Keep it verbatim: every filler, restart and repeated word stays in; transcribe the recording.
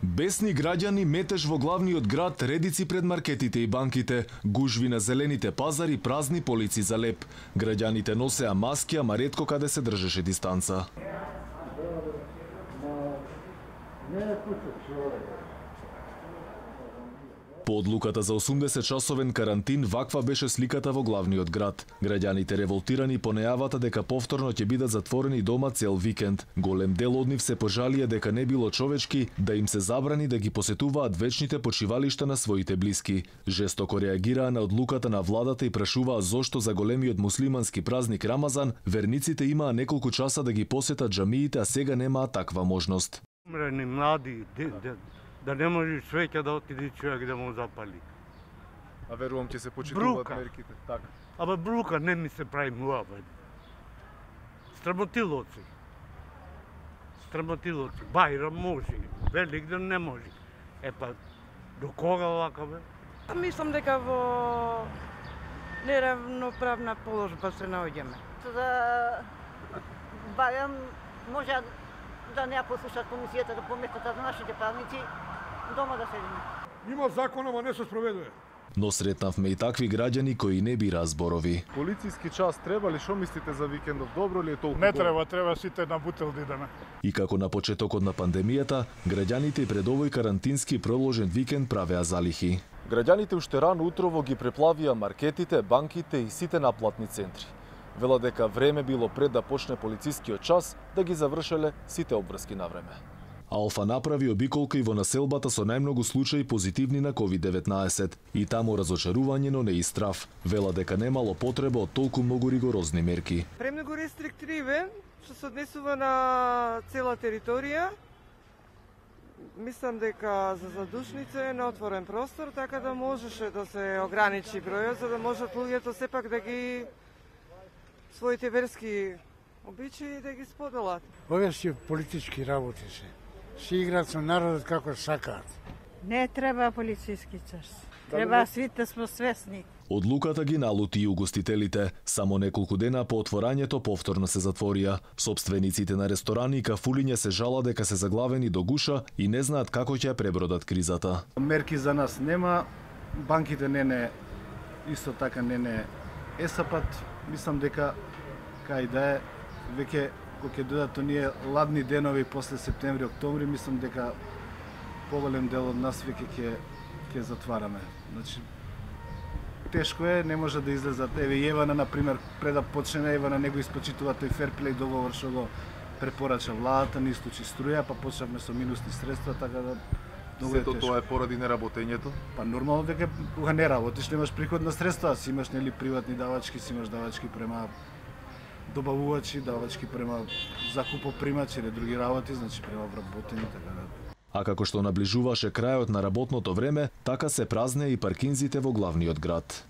Бесни граѓани, метеж во главниот град, редици пред маркетите и банките, гужви на зелените пазари, празни полици за леп. Граѓаните носеа маски, ама ретко каде се држеше дистанца. По одлуката за осумдесет-часовен карантин, ваква беше сликата во главниот град. Граѓаните револтирани по најавата дека повторно ќе бидат затворени дома цел викенд. Голем дел од нив се пожалија дека не било човечки да им се забрани да ги посетуваат вечните почивалишта на своите блиски. Жестоко реагираа на одлуката на владата и прашуваа зошто за големиот муслимански празник Рамазан верниците имаа неколку часа да ги посетат џамиите, а сега немаа таква можност. Умрени млади, да не може свеќа да отиде човек да му запали. А верувам ќе се почитуваат мерките, така. Абе брука не ми се прави муабет. Страмотилоци. Страмотилоци. Бајрам може, Великден не може. Е па, до кога вака бе? Мислам дека во неравноправна положба се наоѓаме. За Бајрам може да не ја послушат комисијата, да поместат на нашите празници, дома да седиме. Има закон, ама не се спроведува. Но сретнавме и такви граѓани кои не бира зборови. Полициски час треба ли? Шо мислите за викендов? Добро ли е толку? Не треба, треба сите на бутел да идеме. И како на почетокот на пандемијата, граѓаните и пред овој карантински проложен викенд правеа залихи. Граѓаните уште рано утрово ги преплавија маркетите, банките и сите наплатни центри. Вела дека време било пред да почне полицискиот час да ги завршеле сите обврски на време. Алфа направи обиколка и во населбата со најмногу случаи позитивни на ковид деветнаесет и таму разочарување, но не и страв. Вела дека немало потреба од толку многу ригорозни мерки. Премногу рестриктивен, што се однесува на цела територија. Мислам дека за задушница е на отворен простор, така да можеше да се ограничи бројот, за да можат луѓето сепак да ги своите верски обичаи да ги споделат. Ова си политички работи се. Си играат со народот како сакаат. Не треба полициски час. Треба сите сме свесни. Одлуката ги налути и угостителите. Само неколку дена по отворањето повторно се затворија. Собствениците на ресторани и кафулиња се жала дека се заглавени до гуша и не знаат како ќе ја пребродат кризата. Мерки за нас нема, банките не не исто така не не есапат. Мислам дека кај да е веќе кога ќе дојдат оние ладни денови после септември, октомври, мислам дека поголем дел од нас веќе ќе ќе затвараме. Значи тешко е, не може да излезат. Еве Јевана на пример, пред да почне Јевана него испочитува тој ферплей договор што го препорача владата, не исклучи струја, па почнавме со минусни средства, така да Сето тоа е поради неработењето? Па нормално дека кога не работиш немаш приходна средства, си имаш нели приватни давачки, си имаш давачки према добавувачи, давачки према закупопримачи или други работи, значи према вработени, така да. А како што наближуваше крајот на работното време, така се празнеа и паркинзите во главниот град.